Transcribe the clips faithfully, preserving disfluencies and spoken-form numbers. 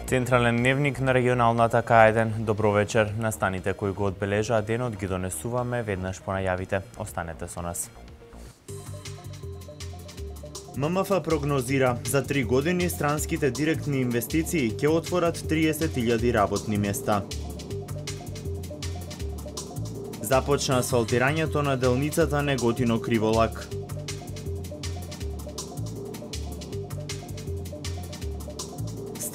Централен дневник на регионалната К еден. Добро вечер. Настаните кои го одбележаат денот ги донесуваме веднаш по најавите. Останете со нас. М М Ф прогнозира за три години странските директни инвестиции ќе отворат триесет илјади работни места. Започна асфалтирањето на делницата Неготино-Криволак.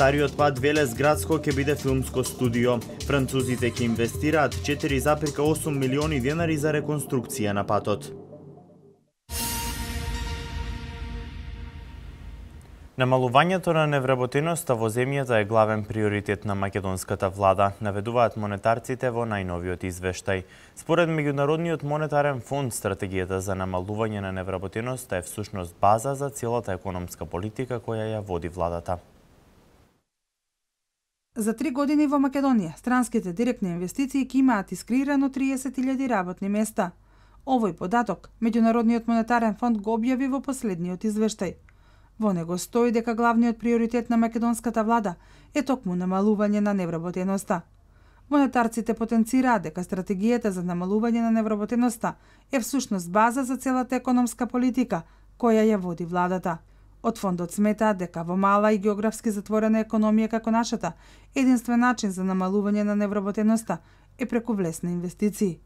Стариот пат Велес-Градско ќе биде филмско студио. Французите ќе инвестираат четири зарез и осум милиони денари за реконструкција на патот. Намалувањето на невработеноста во земјата е главен приоритет на македонската влада, наведуваат монетарците во најновиот извештај. Според Меѓународниот монетарен фонд, стратегијата за намалување на невработеноста е всушност база за целата економска политика која ја води владата. За три години во Македонија, странските директни инвестиции ќе имаат искреирано триесет илјади работни места. Овој податок Меѓународниот монетарен фонд го објави во последниот извештај. Во него стои дека главниот приоритет на македонската влада е токму намалување на невработеноста. Монетарците потенцираат дека стратегијата за намалување на невработеноста е всушност база за целата економска политика која ја води владата. Од фондот сметаат дека во мала и географски затворена економија како нашата, единствен начин за намалување на невработеноста е преку влез на инвестиции.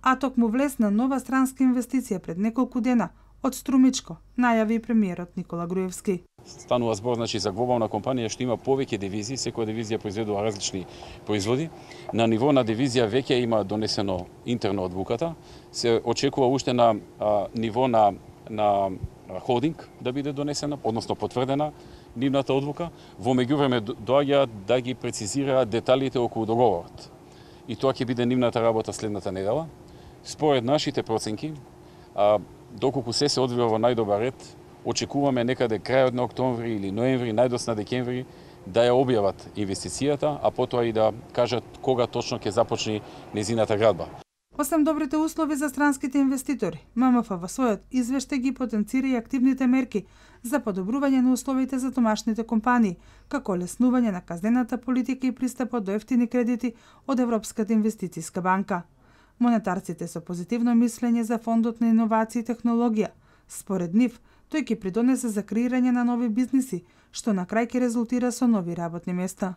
А токму влез на нова странска инвестиција пред неколку дена од Струмичко, најави премиерот Никола Груевски. Станува збор значи за глобална компанија што има повеќе дивизии, секоја дивизија произведува различни производи. На ниво на дивизија веќе има донесено интерно одлуката, се очекува уште на а, ниво на на холдинг да биде донесена, односно потврдена нивната одлука. Во меѓувреме доаѓаат да ги прецизираат деталите околу договорот. И тоа ќе биде нивната работа следната недела. Според нашите проценки, а, доколку се се одвива во најдобар ред, очекуваме некаде крајот на октомври или ноември, најдосна декември, да ја објават инвестицијата, а потоа и да кажат кога точно ќе започне незината градба. Освен добрите услови за странските инвеститори, М М Ф во својот извештај ги потенцира и активните мерки за подобрување на условите за домашните компании, како леснување на казнената политика и пристапот до ефтини кредити од Европската инвестицијска банка. Монетарците со позитивно мислење за фондот на иновација и технологија. Според нив, тој ќе придонесе за креирање на нови бизниси, што на крај ќе резултира со нови работни места.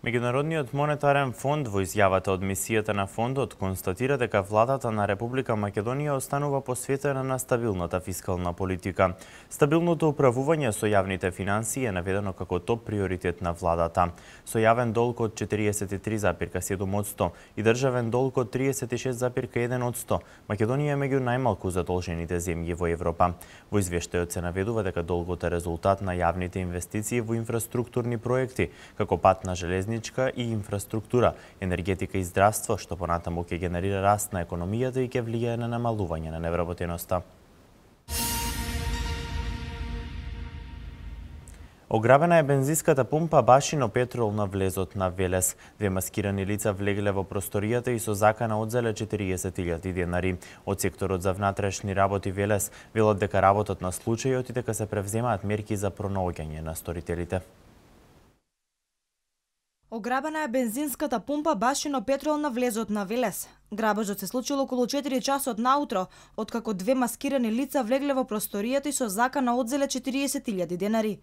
Меѓународниот монетарен фонд во изјавата од мисијата на фондот констатира дека владата на Република Македонија останува посветена на стабилната фискална политика. Стабилното управување со јавните финансии е наведено како топ приоритет на владата. Со јавен долг од четириесет и три зарез и седум одсто и државен долг од триесет и шест зарез и еден одсто, Македонија е меѓу најмалку задолжените земји во Европа. Во извештајот се наведува дека долгот е резултат на јавните инвестиции во инфраструктурни проекти, како патна железница и инфраструктура, енергетика и здравство, што понатаму ќе генерира раст на економијата и ќе влијае на намалување на невработеноста. Ограбена е бензинската пумпа Башино Петрол на влезот на Велес. Две маскирани лица влегле во просторијата и со закана одзеле четириесет илјади денари. Од секторот за внатрешни работи Велес велат дека работат на случајот и дека се превземаат мерки за пронаоѓање на сторителите. Ограбена е бензинската пумпа Башино Петрол на влезот на Велес. Грабежот се случил околу четири часот наутро, откако две маскирани лица влегле во просторијата и со закана одзеле четириесет илјади денари.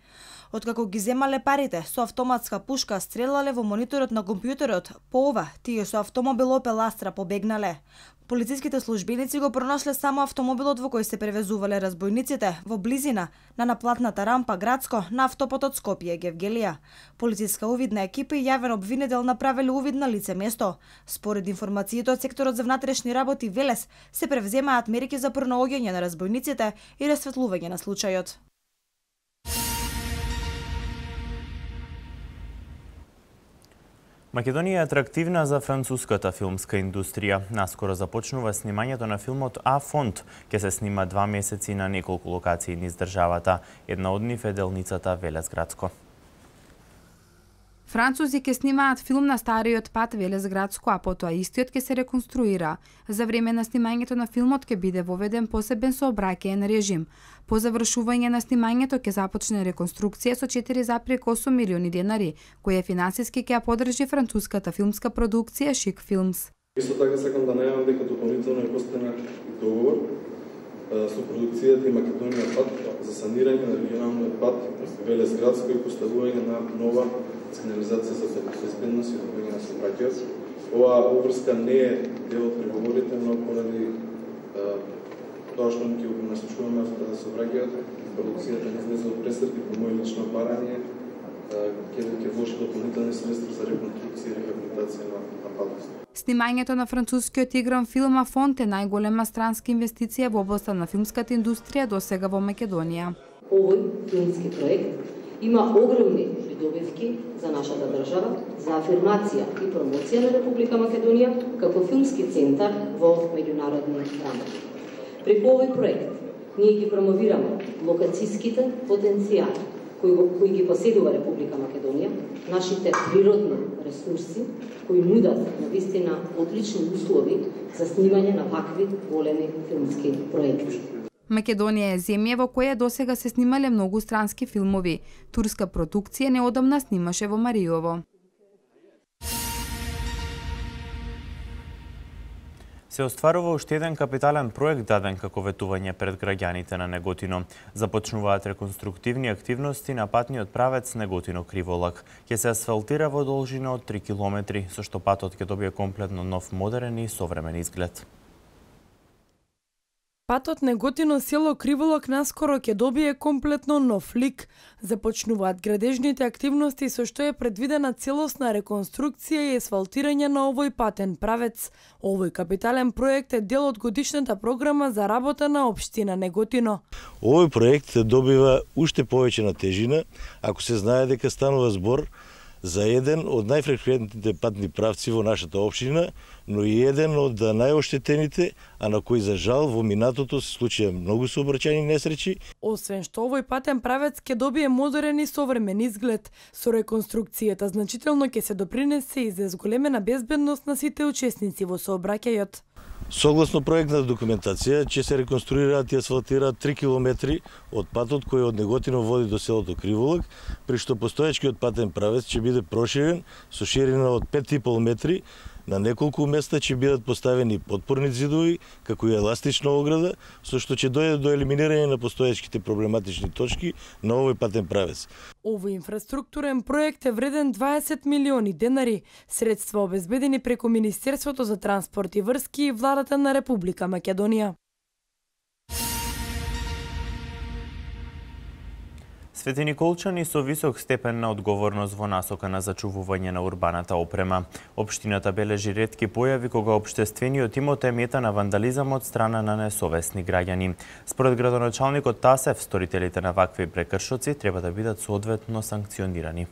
Откако ги земале парите, со автоматска пушка стрелале во мониторот на компјутерот, по ова тие со автомобил Опел Астра побегнале. Полициските службеници го пронашле само автомобилот во кој се превезувале разбойниците во близина на наплатната рампа Градско на автопатот Скопје-Гевгелија. Полициска увидна екипа и јавен обвинител направиле увид на лице место. Според информациите од секторот за внатрешни работи Велес се превземаат мерки за пронаоѓање на разбойниците и расветлување на случајот. Македонија е атрактивна за француската филмска индустрија. Наскоро започнува снимањето на филмот А Фонд. Ке се снима два месеци на неколку локации низ државата. Една од нив е делницата Велес-Градско. Французи ќе снимаат филм на стариот пат Велес-Градско, а потоа истиот ќе се реконструира. За време на снимањето на филмот ќе биде воведен посебен сообраќаен режим. По завршување на снимањето ќе започне реконструкција со четири запир осум милиони денари, која финансиски ќе ја поддржи француската филмска продукција Шик Филмс. Исто така сакам да најавам дека дополнително е постигнат договор со продукцијата и Македонија пат за санирање на регионалниот пат Велес-Градско и поставување на нова сигнализација за безбедност и одвојување на сообраќајот. Оваа обврска не е дел од преговорите, но поради тоа што ќе го насочуваме за сообраќајот, продукцијата не излезе од престрет и по моје лично барање ќе ќе вложи дополнителни средства за реконструкција и рехабилитација на, на патот. Снимањето на францускиот игран филм Афонт е најголема странска инвестиција во областа на филмската индустрија досега во Македонија. Овој филмски проект има огромни придобивки за нашата држава, за афирмација и промоција на Република Македонија како филмски центар во меѓународни рамки. Преку овој проект ние ги промовираме локацијските потенцијали кои, кои ги поседува Република Македонија, нашите природни ресурси кои нудат на вистина одлични услови за снимање на вакви големи филмски проекти. Македонија е земја во која досега се снимале многу странски филмови. Турска продукција неодамна снимаше во Мариово. Се остварува уште еден капитален проект даден како ветување пред граѓаните на Неготино. Започнуваат реконструктивни активности на патниот правец Неготино-Криволак. Ќе се асфалтира во должина од три километри, со што патот ќе добие комплетно нов, модерен и современ изглед. Патот Неготино село Криволак наскоро ќе добие комплетно нов лик. Започнуваат градежните активности со што е предвидена целосна реконструкција и асфалтирање на овој патен правец. Овој капитален проект е дел од годишната програма за работа на општина Неготино. Овој проект добива уште повеќе на тежина ако се знае дека станува збор за еден од најфреквентните патни правци во нашата општина, но и еден од најоштетените, а на кои за жал во минатото се случија многу сообраќајни несреќи. Освен што овој патен правец ќе добие модерен и современ изглед, со реконструкцијата значително ќе се допринесе и за зголемена безбедност на сите учесници во сообраќајот. Согласно проектната документација, ќе се реконструираат и асфалтираат три километри од патот кој од Неготино води до селото Криволак, при што постоечкиот патен правец ќе биде проширен со ширина од пет и пол метри. На неколку места ќе бидат поставени потпорни зидови, како и еластична ограда, со што ќе дојде до елиминирање на постоечките проблематични точки на овој патен правец. Овој инфраструктурен проект е вреден дваесет милиони денари, средства обезбедени преку Министерството за транспорт и врски и владата на Република Македонија. Светиниколчани со висок степен на одговорност во насока на зачувување на урбаната опрема. Општината бележи ретки појави кога општествениот имот е мета на вандализам од страна на несовесни граѓани. Според градоначалникот Тасев, сторителите на вакви прекршоци треба да бидат соодветно санкционирани.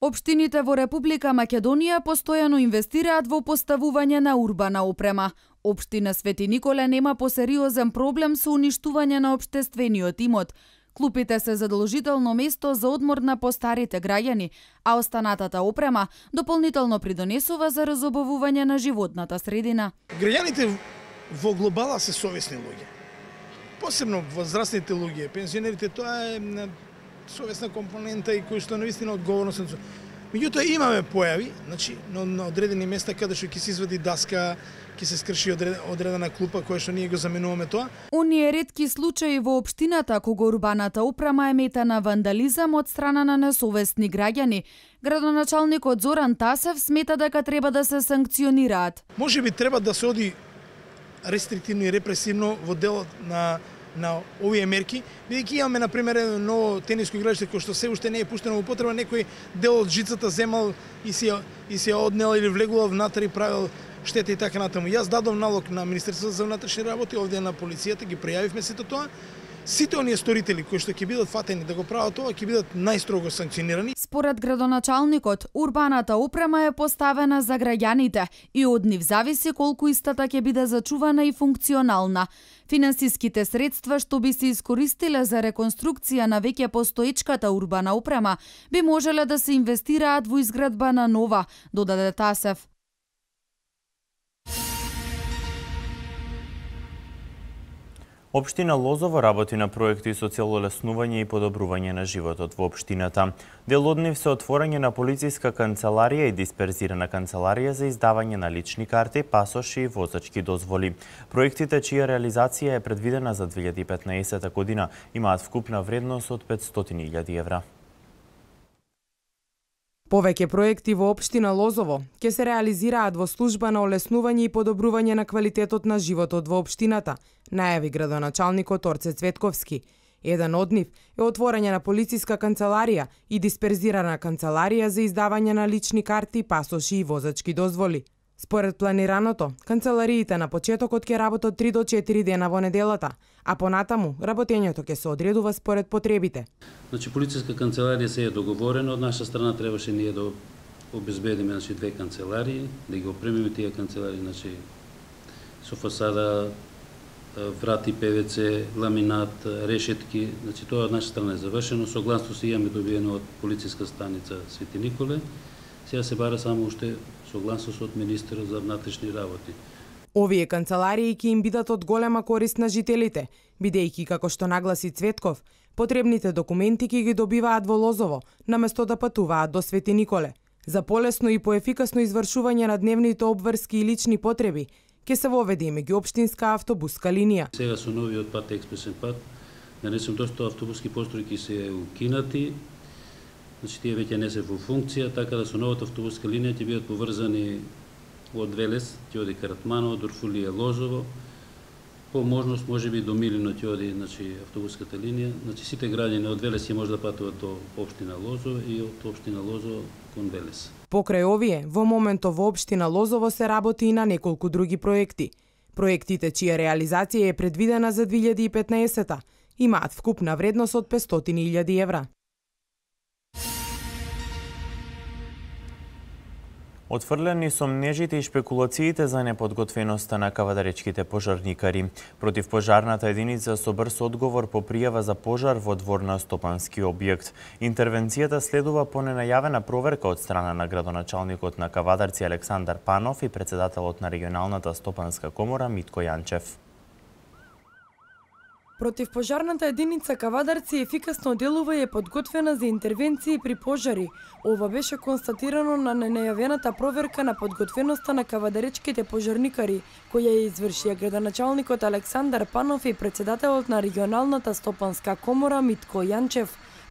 Општините во Република Македонија постојано инвестираат во поставување на урбана опрема. Општина Свети Николе нема посериозен проблем со уништување на општествениот имот. Клупите се задолжително место за одмор на постарите граѓани, а останатата опрема дополнително придонесува за разобавување на животната средина. Граѓаните во глобала се совесни луѓе. Посебно возрастните луѓе, пензионерите, тоа е совесна компонента и кој што навистина одговорно се. Меѓутоа имаме појави, значи на одредени места каде што ќе се извади даска, ќе се скрши одредена клупа која што ние го заменуваме тоа. Оние ретки случаи во општината кога урбаната опрема е мета на вандализам од страна на несовесни граѓани, градоначалникот Зоран Тасев смета дека треба да се санкционираат. Можеби треба да се оди рестриктивно и репресивно во делот на на овие мерки, бидејќи имаме на пример едно ново тениско игралиште кој што се уште не е пуштено во употреба, некој дел од жицата земал и се и се однел или влегувал внатре и правил штета и така натаму. Јас дадов налог на Министерството за внатрешни работи, овде на полицијата, ги пријавивме сето тоа. Сите оние сторители кои што ќе бидат фатени да го прават тоа ќе бидат најстрого санкционирани. според градоначалникот, урбаната опрема е поставена за граѓаните и од нив зависи колку истата ќе биде зачувана и функционална. Финансиските средства што би се искористиле за реконструкција на веќе постоечката урбана опрема би можеле да се инвестираат во изградба на нова, додаде Тасев. Општина Лозово работи на проекти со цел олеснување и подобрување на животот во општината. Дел од нив се отворање на полициска канцеларија и дисперзирана канцеларија за издавање на лични карти, пасоши и возачки дозволи. Проектите чија реализација е предвидена за две илјади и петнаесета година имаат вкупна вредност од петстотини илјади евра. Повеќе проекти во општина Лозово ќе се реализираат во служба на олеснување и подобрување на квалитетот на животот во општината, најави градоначалникот Орце Цветковски. Еден од нив е отворање на полициска канцеларија и дисперзирана канцеларија за издавање на лични карти, пасоши и возачки дозволи. Според планираното, канцелариите на почетокот ќе работат три до четири дена во неделата, а понатаму работењето ќе се одредува според потребите. Значи полициска канцеларија се е договорена, од наша страна требаше ние да обезбедиме значи две канцеларии, да ги опремиме тие канцеларии, значи со фасада, врати, певеце, ламинат, решетки, значи тоа од наша страна е завршено, согласно се имаме добиено од полициска станица Свети Николе. Сега се бара само уште согласност од министерот за внатрешни работи. Овие канцеларии ќе им бидат од голема корист на жителите, бидејќи, како што нагласи Цветков, потребните документи ќе ги добиваат во Лозово, наместо да патуваат до Свети Николе. За полесно и поефикасно извршување на дневните обврски и лични потреби, ќе се воведе и меѓуопштинска автобуска линија. Сега со новиот пат, експресен пат, нанесем доста автобуски постројки се укинати, значи тие веќе не се во функција, така да со новата автобуска линија ќе бидат поврзани од Велес, ќе оди Каратманово, Дорфулија, Лозово, по можност можеби до Милино ќе оди значи автобуската линија, значи сите граѓани од Велес ќе може да патуваат до општина Лозово и од општина Лозово кон Велес. Покрај овие, во моментов во општина Лозово се работи и на неколку други проекти. Проектите чија реализација е предвидена за две илјади и петнаесета имаат вкупна вредност од петстотини илјади евра. Отфрлени со мнежите и шпекулациите за неподготвеноста на кавадаречките пожарникари. Против пожарната единица со брз одговор по пријава за пожар во двор на стопански објект. Интервенцијата следува по ненајавена проверка од страна на градоначалникот на Кавадарци Александар Панов и председателот на регионалната стопанска комора Митко Јанчев. Противпожарната единица Кавадарци ефикасно делува и е подготвена за интервенции при пожари. Ова беше констатирано на ненајавената проверка на подготвеноста на кавадаречките пожарникари, која ја извршија градоначалникот Александар Панов и председателот на регионалната стопанска комора Митко Јанчев.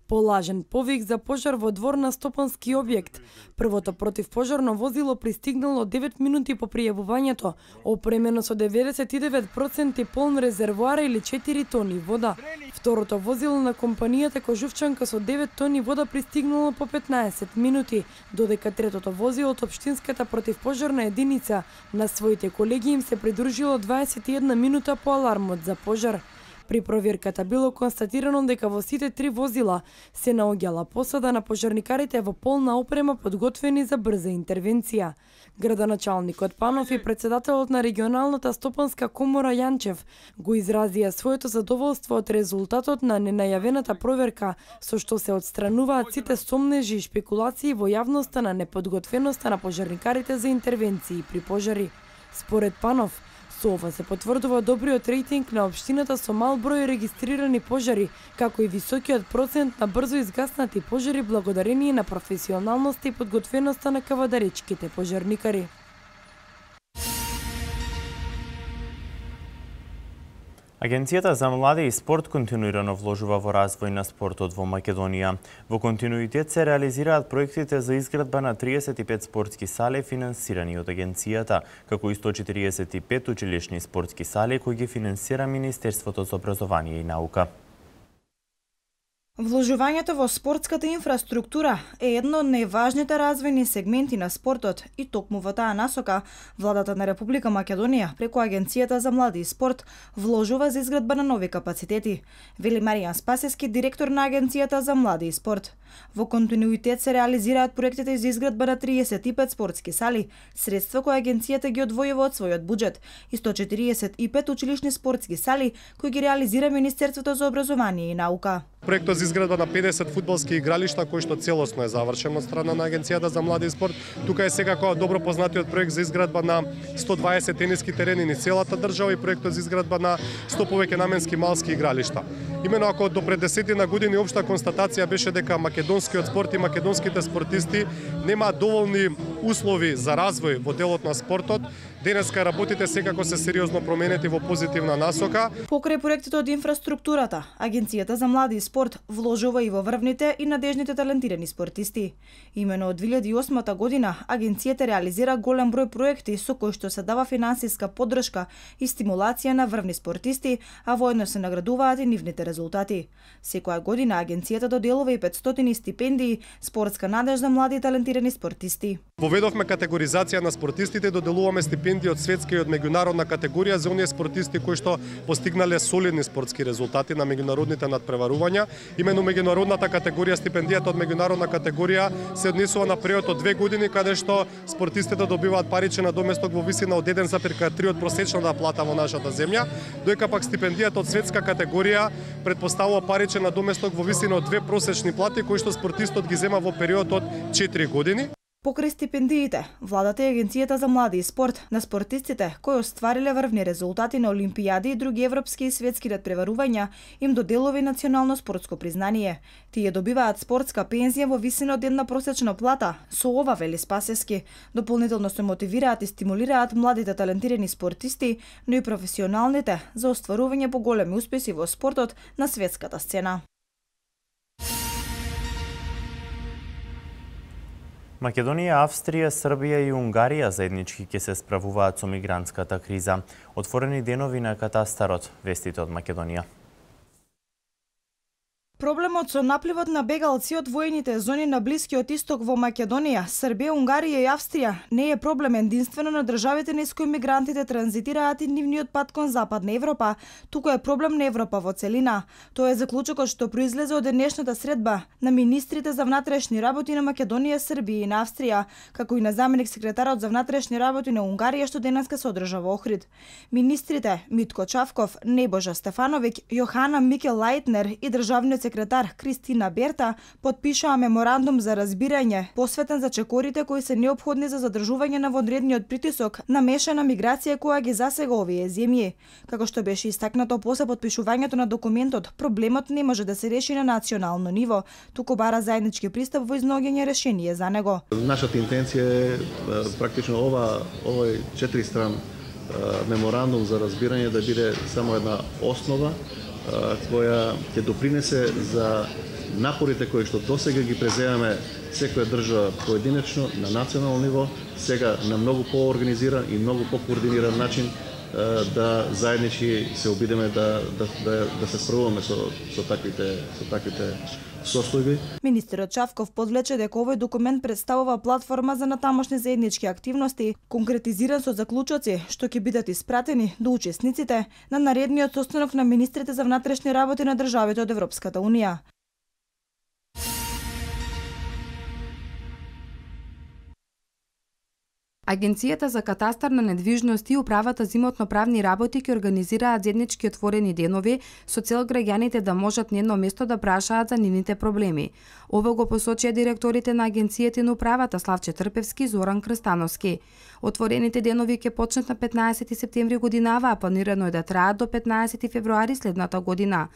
Полажен повик за пожар во двор на стопански објект. Првото противпожарно возило пристигнало девет минути по пријавувањето, опремено со деветдесет и девет проценти полн резервоар или четири тони вода. Второто возило на компанијата Кожувчанка со девет тони вода пристигнало по петнаесет минути, додека третото возило од општинската противпожарна единица на своите колеги им се придружило дваесет и една минута по алармот за пожар. При проверката било констатирано дека во сите три возила се наоѓала посада на пожарникарите во полна опрема подготвени за брза интервенција. Градоначалникот Панов и председателот на регионалната стопанска комора Јанчев го изразија своето задоволство од резултатот на ненајавената проверка, со што се отстрануваат сите сомнежи и шпекулации во јавноста на неподготвеноста на пожарникарите за интервенции при пожари. Според Панов, со ова се потврдува добриот рейтинг на општината со мал број регистрирани пожари, како и високиот процент на брзо изгаснати пожари благодарение на професионалноста и подготвеноста на кавадаречките пожарникари. Агенцијата за млади и спорт континуирано вложува во развој на спортот во Македонија. Во континуитет се реализираат проектите за изградба на триесет и пет спортски сали финансирани од агенцијата, како и сто четириесет и пет училишни спортски сали кои ги финансира Министерството за образование и наука. Вложувањето во спортската инфраструктура е едно од најважните развојни сегменти на спортот и токму во таа насока владата на Република Македонија преку Агенцијата за млади и спорт вложува за изградба на нови капацитети, вели Маријан Спасески, директор на Агенцијата за млади и спорт. Во континуитет се реализираат проектите за изградба на триесет и пет спортски сали, средства кои агенцијата ги одвојува од својот буџет, и сто четириесет и пет училишни спортски сали кои ги реализира Министерството за образование и наука. Проектот за изградба на педесет фудбалски игралишта, кој што целосно е завршен од страна на Агенцијата за млади и спорт. Тука е секако добро познатиот проект за изградба на сто дваесет тениски терени низ целата држава и проектот за изградба на сто повеќе наменски малски игралишта. Имено ако до пред десетина години општа констатација беше дека македонскиот спорт и македонските спортисти немаат доволни услови за развој во делот на спортот, денеска работите секако се сериозно променети во позитивна насока. Покрај проектите од инфраструктурата, Агенцијата за млади и спорт вложува и во врвните и надежните талентирани спортисти. Имено од две илјади и осма година агенцијата реализира голем број проекти со кои што се дава финансиска поддршка и стимулација на врвни спортисти, а воедно се наградуваат и нивните резултати. Секоја година агенцијата доделува и петстотини стипендии, спортска надеж за млади и талентирани спортисти. Поведовме категоризација на спортистите, доделуваме стипендии од светска и од меѓународна категорија за оние спортисти кои што постигнале солидни спортски резултати на меѓународните надпреварувања. Именно меѓународната категорија, стипендијата од меѓународна категорија се однесува на период од две години, каде што спортистите добиваат паричен надоместок во висина од еден запир три од просечната плата во нашата земја, доека пак стипендијата од светска категорија претпоставува паричен надоместок во висина од две просечни плати кои што спортистот ги зема во период од четири години. Покрај стипендиите, владата и Агенцијата за млади и спорт на спортистите кои оствариле врвни резултати на олимпијади и други европски и светски надпреварувања им доделува национално спортско признание. Тие добиваат спортска пензија во висина од една просечна плата. Со ова, вели Спасески, дополнително се мотивираат и стимулираат младите талентирани спортисти, но и професионалните за остварување поголеми успеси во спортот на светската сцена. Македонија, Австрија, Србија и Унгарија заеднички ќе се справуваат со мигрантската криза. Отворени денови на катастарот, вестите од Македонија. Проблемот со напливот на бегалци од воените зони на Блискиот Исток во Македонија, Србија, Унгарија и Австрија не е проблем единствено на државите низ кои мигрантите транзитираат и нивниот пат кон Западна Европа, туку е проблем на Европа во целина. Тоа е заклучокот што произлезе од денешната средба на министрите за внатрешни работи на Македонија, Србија и на Австрија, како и на заменик секретарот за внатрешни работи на Унгарија што денеска се одржа во Охрид. Министрите Митко Чавков, Небожа Стефановиќ, Јохана Микел Лајтнер и државниот секретар Кристина Берта потпишаа меморандум за разбирање посветен за чекорите кои се неопходни за задржување на вонредниот притисок на мешана миграција која ги засега овие земји. Како што беше истакнато после потпишувањето на документот, проблемот не може да се реши на национално ниво, туку бара заеднички пристап во изнаоѓање решение за него. Нашата интенција е практично ова овој четиристран меморандум за разбирање да биде само една основа која ќе допринесе за напорите кои што досега ги преземаме секоја држава поединечно на национално ниво, сега на многу поорганизиран и многу покоординиран начин да заеднички се обидеме да да да, да се справуваме со со таквите со таквите состојби. Министерот Чавков подлече дека овој документ представува платформа за натамошни заеднички активности, конкретизиран со заклучоци што ќе бидат испратени до учесниците на наредниот состанок на министрите за внатрешни работи на државите од Европската унија. Агенцијата за катастар на недвижности и управата за имотно-правни работи ќе организираат заеднички отворени денови со цел граѓаните да можат на едно место да прашаат за нивните проблеми. Ова го посочија директорите на агенцијата и на управата Славче Трпевски и Зоран Крстановски. Отворените денови ќе почнат на петнаесети септември годинава, а планирано е да траат до петнаесети февруари следната година.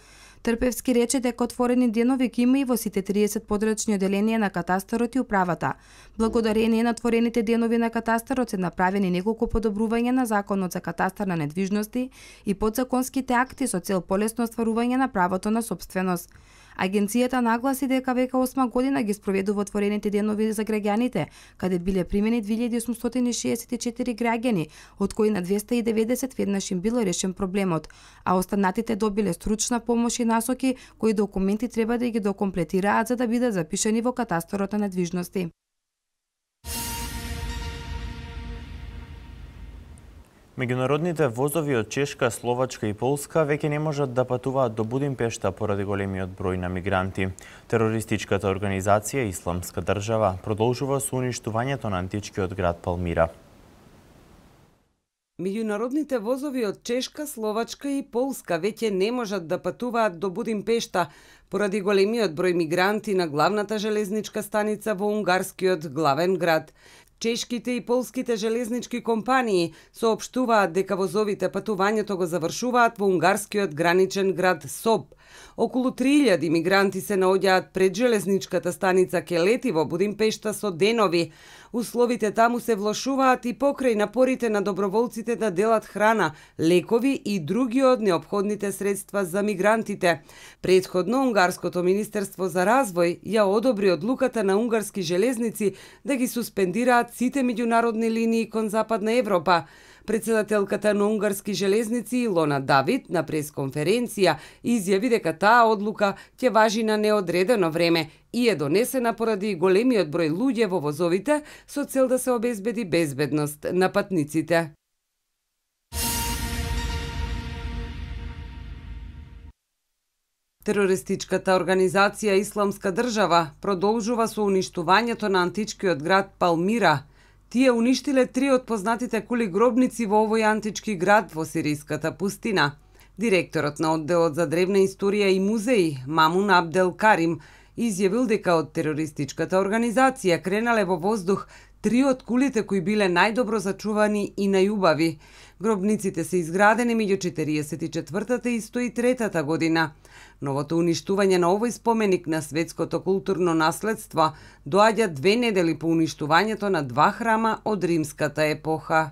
Трпевски рече дека отворени денови ќе има и во сите триесет подрачни оделенија на катастарот и управата. Благодарение на отворените денови на катастарот се направени неколку подобрувања на законот за катастар на недвижности и подзаконските акти со цел полесно остварување на правото на сопственост. Агенцијата нагласи дека веќе осма година ги спроведува отворените денови за граѓаните, каде биле примени две илјади осумстотини шеесет и четири граѓани, од кои на двесте и деветдесет веднаш им било решен проблемот, а останатите добиле стручна помош и насоки кои документи треба да ги докомплетираат за да бидат запишани во катастрот на недвижности. Меѓународните возови од Чешка, Словачка и Полска веќе не можат да патуваат до Будимпешта поради големиот број на мигранти. Терористичката организација Исламска држава продолжува со уништувањето на античкиот град Палмира. Меѓународните возови од Чешка, Словачка и Полска веќе не можат да патуваат до Будимпешта поради големиот број мигранти на главната железничка станица во унгарскиот главен град. Чешките и полските железнички компании соопштуваат дека возовите патувањето го завршуваат во унгарскиот граничен град Соб. Околу три илјади мигранти се наоѓаат пред железничката станица Келети во Будимпешта со денови. Условите таму се влошуваат и покрај напорите на доброволците да делат храна, лекови и други од неопходните средства за мигрантите. Претходно унгарското министерство за развој ја одобри одлуката на унгарски железници да ги суспендираат сите меѓународни линии кон Западна Европа. Председателката на унгарски железници Илона Давид на пресконференција изјави дека таа одлука ќе важи на неодредено време и е донесена поради големиот број луѓе во возовите со цел да се обезбеди безбедност на патниците. Терористичката организација Исламска држава продолжува со уништувањето на античкиот град Палмира. Тие уништиле три од познатите кули гробници во овој антички град во сириската пустина. Директорот на одделот за древна историја и музеи, Мамун Абдел Карим, изјавил дека од терористичката организација кренале во воздух три од кулите кои биле најдобро зачувани и најубави. Гробниците се изградени меѓу четириесет и четвртата и сто и третата година. Новото уништување на овој споменик на светското културно наследство доаѓа две недели по уништувањето на два храма од римската епоха.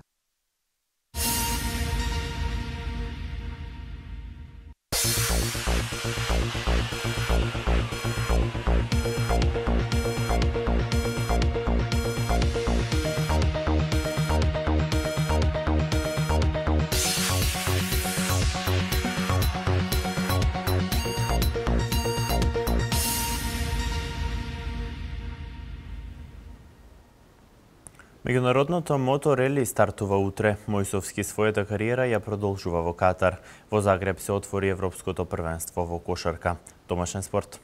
Меѓународното моторели стартува утре. Мојсовски својата кариера ја продолжува во Катар. Во Загреб се отвори Европското првенство во кошарка. Домашен спорт.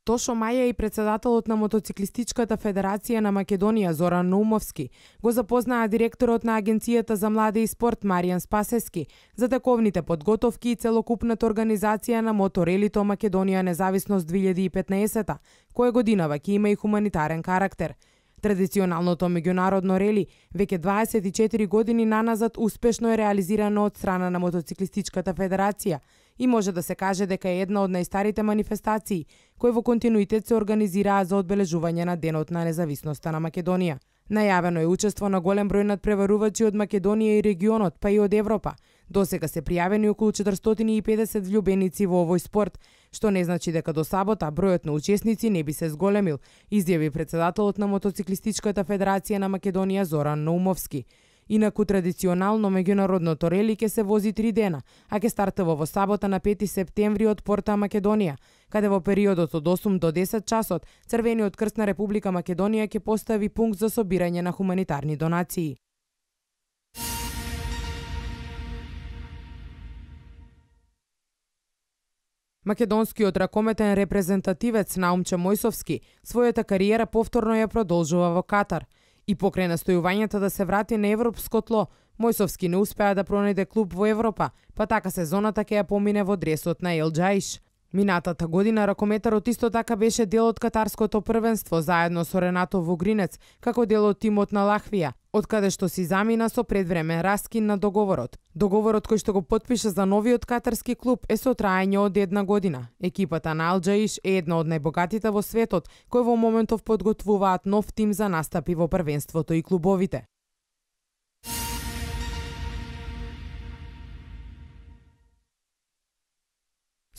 Тошо Маја и председателот на Мотоциклистичката федерација на Македонија Зоран Наумовски го запознаа директорот на Агенцијата за млади и спорт Маријан Спасески за тековните подготовки и целокупната организација на моторелито Македонија независност две илјади и петнаесета, која годинава ќе има и хуманитарен карактер. Традиционалното меѓународно рели веќе дваесет и четири години наназад успешно е реализирано од страна на Мотоциклистичката федерација и може да се каже дека е една од најстарите манифестации кои во континуитет се организираат за одбележување на Денот на независноста на Македонија. Најавено е учество на голем број надпреварувачи од Македонија и регионот, па и од Европа. Досега се пријавени околу четиристотини и педесет влюбеници во овој спорт, што не значи дека до сабота бројот на учесници не би се зголемил, изјави председателот на Мотоциклистичката федерација на Македонија Зоран Наумовски. Инаку традиционално меѓународното рели ќе се вози три дена, а ќе стартува во сабота на пети септември од Порта Македонија, каде во периодот од осум до десет часот Црвениот крст на Република Македонија ќе постави пункт за собирање на хуманитарни донации. Македонскиот ракометен репрезентативец Наумче Мојсовски својата кариера повторно ја продолжува во Катар. И покрај настојувањата да се врати на европско тло, Мојсовски не успеа да пронајде клуб во Европа, па така сезоната ќе ја помине во дресот на Ел Џаиш. Минатата година ракометарот исто така беше дел од катарското првенство заедно со Ренато Вогринец, како дел од тимот на Лахвија, од каде што си замина со предвремен раскин на договорот. Договорот кој што го потпиша за новиот катарски клуб е со траење од една година. Екипата на Ел Џаиш е една од најбогатите во светот, кои во моментов подготвуваат нов тим за настапи во првенството и клубовите.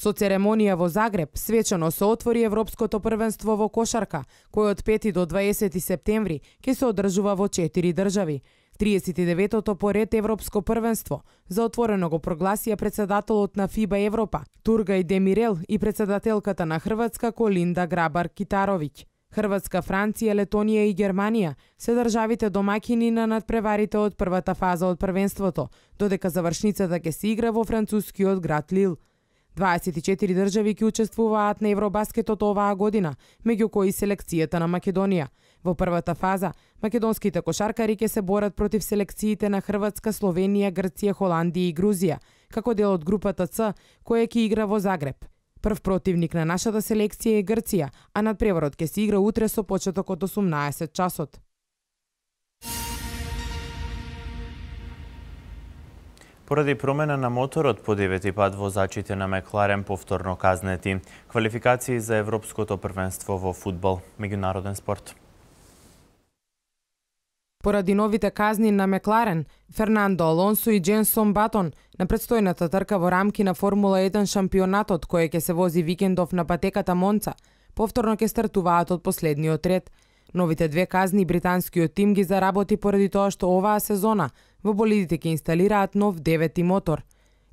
Со церемонија во Загреб свечено се отвори Европското првенство во кошарка, кој од пети до дваесети септември ќе се одржува во четири држави. триесет и деветото поред Европско првенство за отворено го прогласија председателот на ФИБА Европа Тургај Демирел и председателката на Хрватска Колинда Грабар-Китаровиќ. Хрватска, Франција, Летонија и Германија се државите домаќини на надпреварите од првата фаза од првенството, додека завршницата ќе се игра во францускиот град Лил. дваесет и четири држави ќе учествуваат на Евробаскетот оваа година, меѓу кои селекцијата на Македонија. Во првата фаза, македонските кошаркари ќе се борат против селекциите на Хрватска, Словенија, Грција, Холандија и Грузија, како дел од групата С, која ќе игра во Загреб. Прв противник на нашата селекција е Грција, а надпреварот ќе се игра утре со почеток од осумнаесет часот. Поради промена на моторот по девети пат возачите на Мекларен повторно казнети. Квалификации за Европското првенство во фудбал, меѓународен спорт. Поради новите казни на Мекларен, Фернандо Алонсо и Дженсон Батон на предстојната трка во рамки на Формула еден шампионатот кој ќе се вози викендов на патеката Монца, повторно ќе стартуваат од последниот ред. Новите две казни британскиот тим ги заработи поради тоа што оваа сезона во болидите ќе инсталираат нов девети мотор.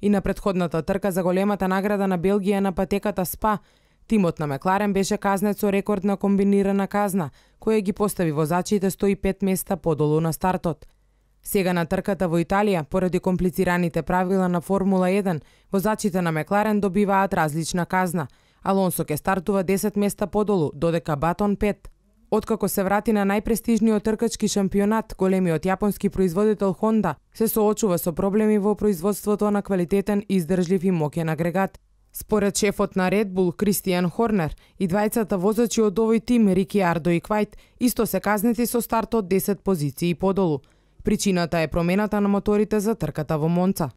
И на претходната трка за големата награда на Белгија на патеката Спа, тимот на Мекларен беше казнет со рекордна комбинирана казна, која ги постави возачите сто и пет места подолу на стартот. Сега на трката во Италија, поради комплицираните правила на Формула еден, возачите на Мекларен добиваат различна казна. Алонсо ќе стартува десет места подолу, додека Батон пет. Откако се врати на најпрестижниот тркачки шампионат, големиот јапонски производител Honda се соочува со проблеми во производството на квалитетен, издржлив и моќен агрегат. Според шефот на Red Bull Кристијан Хорнер, и двајцата возачи од овој тим, Рикиардо и Квајт, исто се казнети со старт од десет позиции подолу. Причината е промената на моторите за трката во Монца.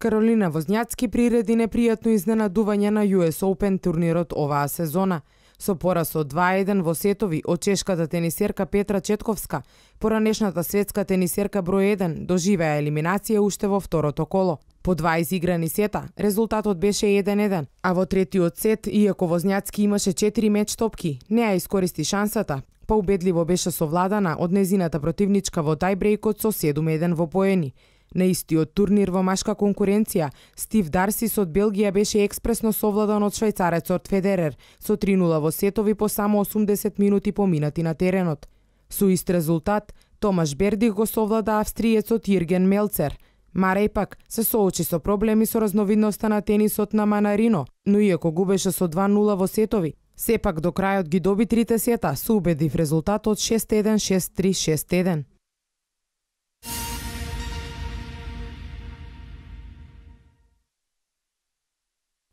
Каролина Возњацки приреди непријатно изненадување на Ю Ес Open турнирот оваа сезона. Со пораз од два еден во сетови од чешката тенисерка Петра Четковска, поранешната светска тенисерка број еден доживеа елиминација уште во второто коло. По два изиграни сета, резултатот беше еден еден, а во третиот сет, иако Возњацки имаше четири меч топки, не ја искористи шансата, па убедливо беше совладана од незината противничка во тајбрейкот со седум еден во поени. На истиот турнир во машка конкуренција, Стив Дарсис од Белгија беше експресно совладан од швајцарецот Федерер со три нула во сетови по само осумдесет минути поминати на теренот. Со ист резултат, Томаш Бердих го совлада австриецот Јирген Мелцер. Марей пак се соочи со проблеми со разновидноста на тенисот на Манарино, но иако губеше со два нула во сетови, сепак до крајот ги доби трите сета со убедив резултат од шест еден, шест три, шест еден.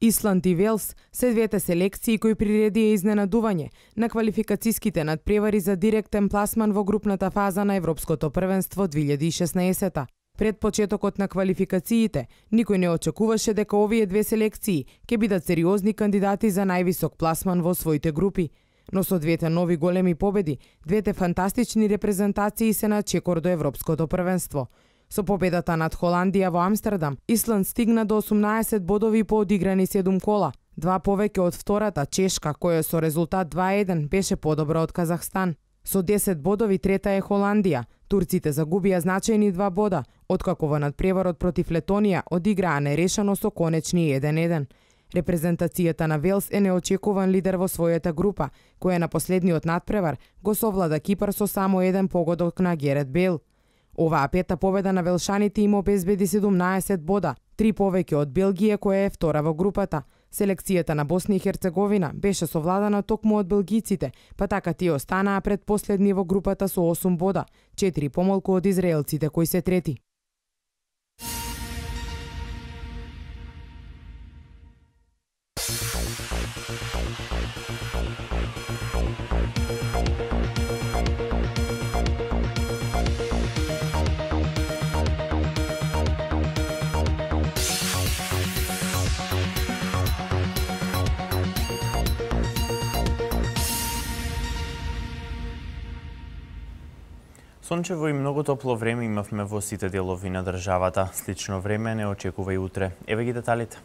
Исланд и Велс се двете селекции кои приредија изненадување на квалификациските надпревари за директен пласман во групната фаза на Европското првенство две илјади и шеснаесета. Пред почетокот на квалификациите, никој не очекуваше дека овие две селекции ќе бидат сериозни кандидати за највисок пласман во своите групи. Но со двете нови големи победи, двете фантастични репрезентации се на чекор до Европското првенство. Со победата над Холандија во Амстердам, Исланд стигна до осумнаесет бодови по одиграни седум кола, два повеќе од втората Чешка, која со резултат два еден беше подобра од Казахстан. Со десет бодови трета е Холандија. Турците загубија значајни два бода, откако во надпреварот против Летонија одиграа нерешено со конечни еден еден. Репрезентацијата на Велс е неочекуван лидер во својата група, која на последниот надпревар го совлада Кипар со само еден погодок на Герет Бейл. Оваа пета победа на велшаните им обезбеди седумнаесет бода, три повеќе од Белгија која е втора во групата. Селекцијата на Босна и Херцеговина беше совладана токму од белгиците, па така тие останаа пред последни во групата со осум бода, четири помалку од израелците кои се трети. Сончево и многу топло време имавме во сите делови на државата. Слично време не очекува и утре. Еве ги деталите.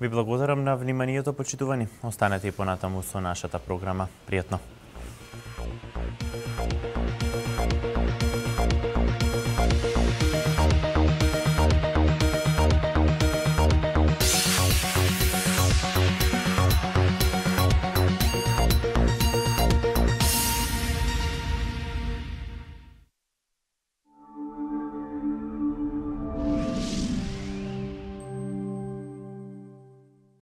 Ви благодарам на вниманието, почитувани. Останете и понатаму со нашата програма. Пријатно!